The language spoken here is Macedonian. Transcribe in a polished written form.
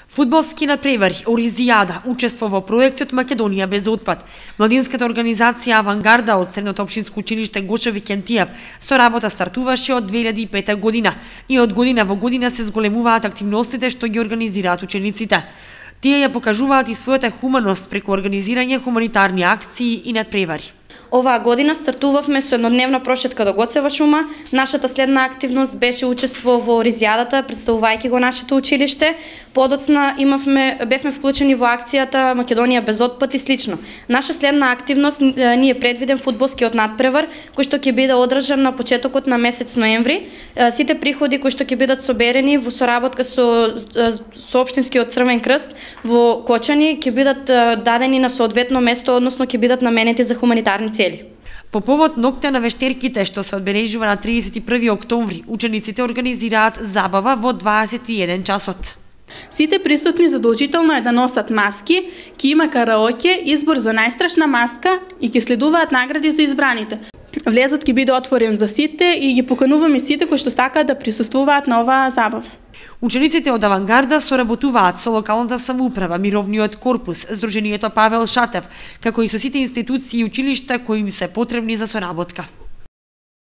Фудбалски надпревари Оризијада учества во проектот Македонија без отпад. Младинската организација Авангарда од Средното општинско училиште Гоше Викентиев со работа стартуваше од 2005 година и од година во година се зголемуваат активностите што ги организираат учениците. Тие ја покажуваат и својата хуманост преку организирање хуманитарни акции и надпревари. Оваа година стартувавме со еднодневна прошетка до Гоцева шума. Нашата следна активност беше учество во Оризијадата, представувајќи го нашето училиште. Подоцна бевме вклучени во акцијата Македонија без отпад и слично. Наша следна активност ни е предвиден фудбалскиот надпревар, кој што ќе биде одржан на почетокот на месец ноември. Сите приходи кои што ќе бидат соберени во соработка со општинскиот Црвен крст во Кочани ќе бидат дадени на соодветно место, односно ќе бидат наменети за хуманитарни цели. По повод ноќта на вештерките што се одбележува на 31 октомври, учениците организираат забава во 21 часот. Сите присутни задолжително е да носат маски, ќе има караоке, избор за најстрашна маска и ќе следуваат награди за избраните. Влезот ќе биде отворен за сите и ги покануваме сите кои што сакаат да присуствуваат на оваа забава. Учениците од Авангарда соработуваат со локалната самоуправа, Мировниот корпус, Сдруженијето Павел Шатев, како и со сите институции и училишта кои им се потребни за соработка.